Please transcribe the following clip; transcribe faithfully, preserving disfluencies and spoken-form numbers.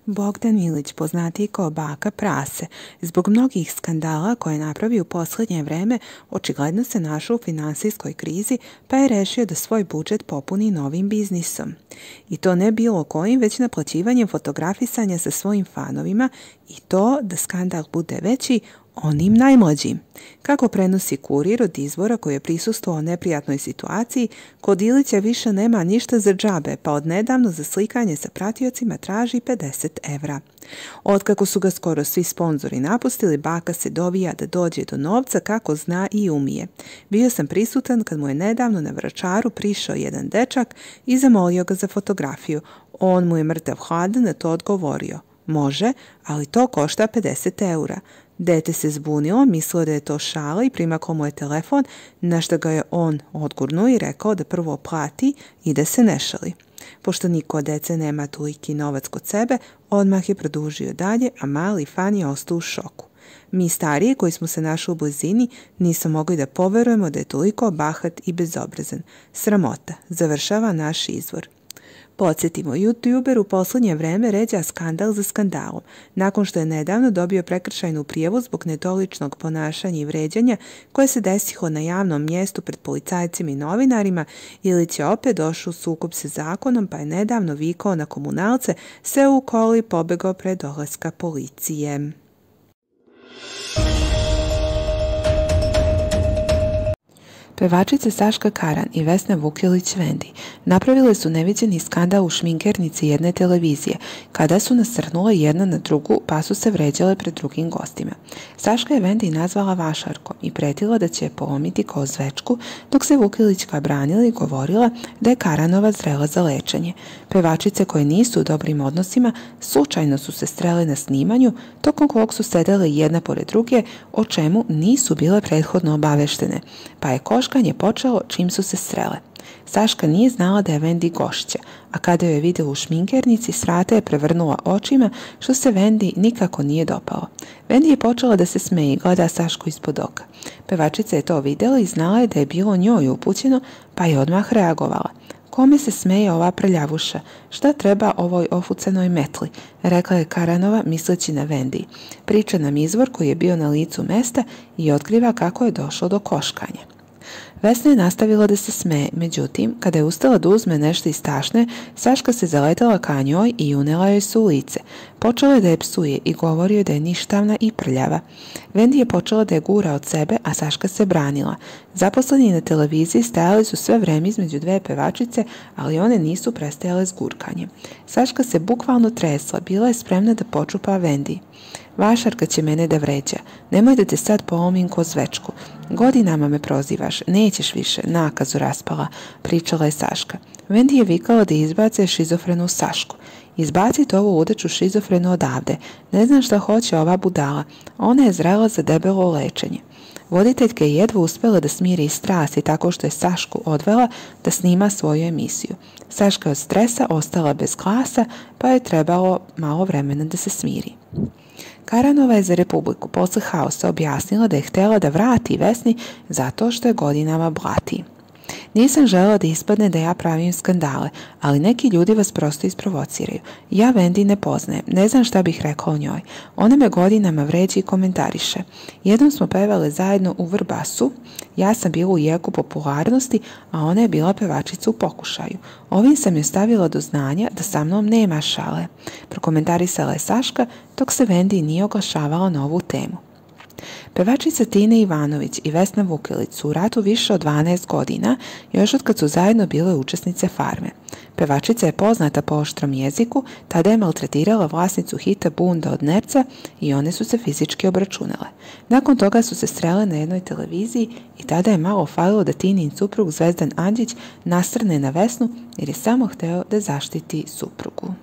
Bogdan Milić, poznatiji kao Baka Prase, zbog mnogih skandala koje je napravio u posljednje vreme, očigledno se našao u finansijskoj krizi, pa je rešio da svoj budžet popuni novim biznisom. I to ne bilo kojim, već naplaćivanjem fotografisanja sa svojim fanovima, i to da skandal bude veći, onim najmlađim. Kako prenosi Kurir od izvora koji je prisustvovao neprijatnoj situaciji, kod Ilića više nema ništa za džabe, pa odnedavno za slikanje sa pratiocima traži pedeset evra. Otkako su ga skoro svi sponzori napustili, Baka se dovija da dođe do novca kako zna i umije. Bio sam prisutan kad mu je nedavno na Vračaru prišao jedan dečak i zamolio ga za fotografiju. On mu je mrtav hladan na to odgovorio: može, ali to košta pedeset eura. Dete se zbunilo, mislilo da je to šala i primaklo mu je telefon, na što ga je on odgurnuo i rekao da prvo plati i da se ne šali. Pošto niko od dece nema toliki novac kod sebe, odmah je produžio dalje, a mali fan je ostao u šoku. Mi stariji koji smo se našli u blizini nismo mogli da poverujemo da je toliko bahat i bezobrazan. Sramota, završava naš izvor. Podsjetimo, YouTuber u posljednje vreme ređa skandal za skandalom. Nakon što je nedavno dobio prekršajnu prijavu zbog nedoličnog ponašanja i vređanja koje se desilo na javnom mjestu pred policajcima i novinarima, Ilić je opet došao u sukob sa zakonom, pa je nedavno vikao na komunalce, se u koli pobegao pred dolaska policije. Pevačice Saška Karan i Vesna Vukilić-Vendi napravile su neviđeni skandal u šminkernici jedne televizije, kada su nasrnule jedna na drugu pa su se vređale pred drugim gostima. Saška je Vendi nazvala vašarkom i pretila da će je polomiti kao zvečku, dok se Vukilićka branila i govorila da je Karanova zrela za lečenje. Pevačice koje nisu u dobrim odnosima slučajno su se srele na snimanju, tokom kog su sedele jedna pored druge, o čemu nisu bile prethodno obaveštene, pa je koškanje počelo čim su se srele. Saška nije znala da je Vendi gošća, a kada joj je vidjela u šminkernici, s vrata je prevrnula očima, što se Vendi nikako nije dopalo. Vendi je počela da se smeje i gleda Sašku ispod oka. Pevačica je to vidjela i znala je da je bilo njoj upućeno, pa je odmah reagovala. Kome se smeje ova prljavuša? Šta treba ovoj ofucanoj metli? Rekla je Karanova misleći na Vendi. Priča nam izvor koji je bio na licu mesta i otkriva kako je došlo do koškanja. Vesna je nastavila da se smeje, međutim, kada je ustala da uzme nešto iz tašne, Saška se zaletala ka njoj i unela joj se u lice. Počela je da je psuje i govorio da je ništavna i prljava. Vendi je počela da je gura od sebe, a Saška se branila. Zaposleni na televiziji stajali su sve vreme između dve pevačice, ali one nisu prestajale s gurkanjem. Saška se bukvalno tresla, bila je spremna da počupa Vendi. Vašarka će mene da vređa. Nemoj da te sad polomim ko zvečku. Godinama me prozivaš, nećeš više, nakazu raspala, pričala je Saška. Vendi je vikala da izbace šizofrenu Sašku. Izbacite ovu ludaču šizofrenu odavde. Ne znam šta hoće ova budala. Ona je zrela za debelo lečenje. Voditeljka je jedva uspjela da smiri strasti tako što je Sašku odvela da snima svoju emisiju. Saška je od stresa ostala bez glasa, pa je trebalo malo vremena da se smiri. Karanova je za Republiku posle haosa objasnila da je htjela da vrati Vesni zato što je godinama blati. Nisam želela da ispadne da ja pravim skandale, ali neki ljudi vas prosto isprovociraju. Ja Vendi ne poznajem, ne znam šta bih rekla o njoj. Ona me godinama vređa i komentariše. Jednom smo pevale zajedno u Vrbasu, ja sam bila u jeku popularnosti, a ona je bila pevačica u pokušaju. Ovim sam joj stavila do znanja da sa mnom nema šale. Prokomentarisala je Saška, dok se Vendi nije oglašavala na ovu temu. Pevačica Tina Ivanović i Vesna Vukilić su u ratu više od dvanaest godina, još od kad su zajedno bile učesnice Farme. Pevačica je poznata po oštrom jeziku, tada je maltretirala vlasnicu hita Bunda od Nerca i one su se fizički obračunale. Nakon toga su se srele na jednoj televiziji i tada je malo falilo da Tinin suprug Zvezdan Andžić nasrne na Vesnu jer je samo hteo da zaštiti suprugu.